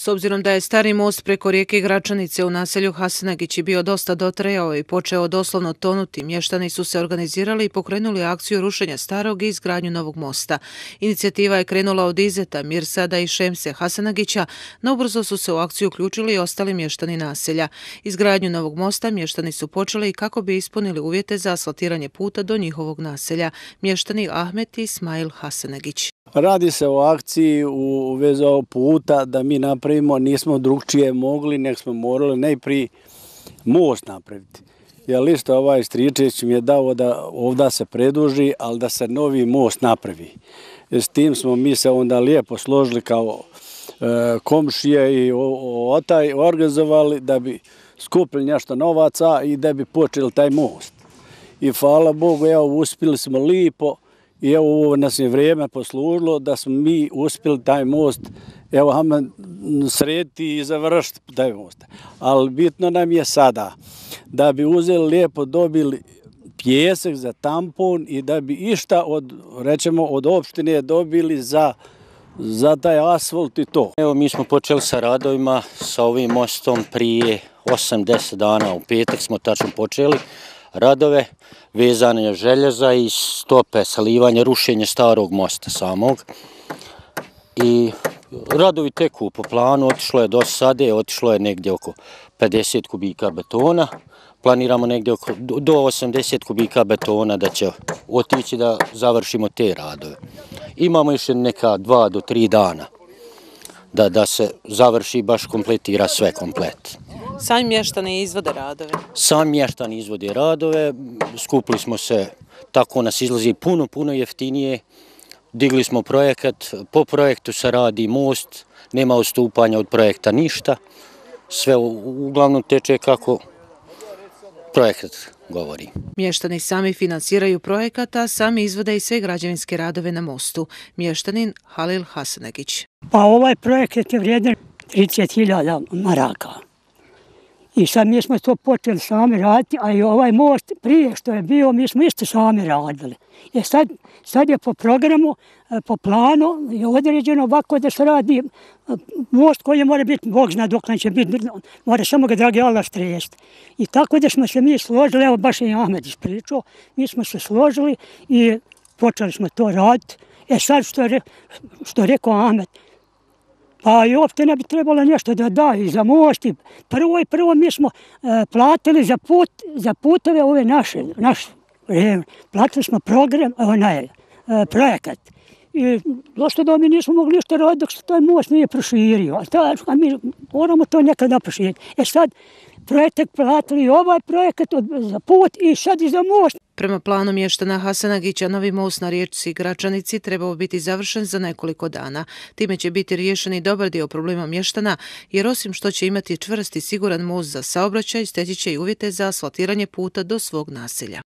S obzirom da je stari most preko rijeke Gračanice u naselju Hasenagići bio dosta dotrajao i počeo doslovno tonuti, mještani su se organizirali i pokrenuli akciju rušenja starog i izgradnju novog mosta. Inicijativa je krenula od Izeta, Mirsada i Šemse Hasenagića, no ubrzo su se u akciju uključili i ostali mještani naselja. Izgradnju novog mosta mještani su počeli i kako bi ispunili uvjete za asfaltiranje puta do njihovog naselja. Mještani Ahmet i Ismail Hasenagić. Radi se o akciji u vezi ovog puta da mi napravimo, nismo drugčije mogli, nek smo morali najprije most napraviti. Jer isto ovaj Stričević mi je dao da ovdje se preduži, ali da se novi most napravi. S tim smo mi se onda lijepo složili kao komšije i organizovali da bi skupili nešto novaca i da bi počeli taj most. I hvala Bogu, evo, uspjeli smo lijepo. I evo, ovo nas je vrijeme poslužilo da smo mi uspjeli taj most, evo, srediti i završiti taj most. Ali bitno nam je sada da bi uzeli lijepo, dobili pijesak za tampon i da bi išta od opštine dobili za taj asfalt i to. Evo, mi smo počeli sa radovima sa ovim mostom prije 8-10 dana. U petak smo tačno počeli radove vezane željeza i stope, salivanje, rušenje starog mosta samog. I radovi teku po planu, otišlo je do sade, otišlo je negdje oko 50 kubika betona. Planiramo negdje do 80 kubika betona da će otići da završimo te radove. Imamo još neka 2 do 3 dana da se završi, baš kompletira sve komplet. Sami mještani izvode radove? Sami mještani izvode radove, skupili smo se, tako nas izlazi puno jeftinije. Digli smo projekat, po projektu se radi most, nema odstupanja od projekta ništa. Sve uglavnom teče kako projekat govori. Mještani sami financiraju projekat, a sami izvode i sve građevinske radove na mostu. Mještanin Halil Hasenagić. Pa ovaj projekat je vrijedan 30.000 maraka. I sad mi smo to počeli sami raditi, a i ovaj most prije što je bio, mi smo isto sami radili. Sad je po programu, po planu je određeno ovako da se radi most koji mora biti, Bog zna dok će biti, mora samo ga dragi Allah stresti. I tako da smo se mi složili, evo baš je Ahmed ispričao, mi smo se složili i počeli smo to raditi. Sad što rekao Ahmed, pa i uopšte ne bi trebalo nešto da daju za most. Prvo mi smo platili za putove ove naše. Platili smo program, projekat. I došto da mi nismo mogli ništa raditi dok se taj most nije proširio. A mi moramo to nekada proširiti. Sad projekat platili ovaj projekat za put i sad i za most. Prema planu mještana Hasenagića, novi most na riječci Gračanici trebao biti završen za nekoliko dana. Time će biti riješen i dobar dio problema mještana, jer osim što će imati čvrst i siguran most za saobraćaj, steći će i uvjete za asfaltiranje puta do svog naselja.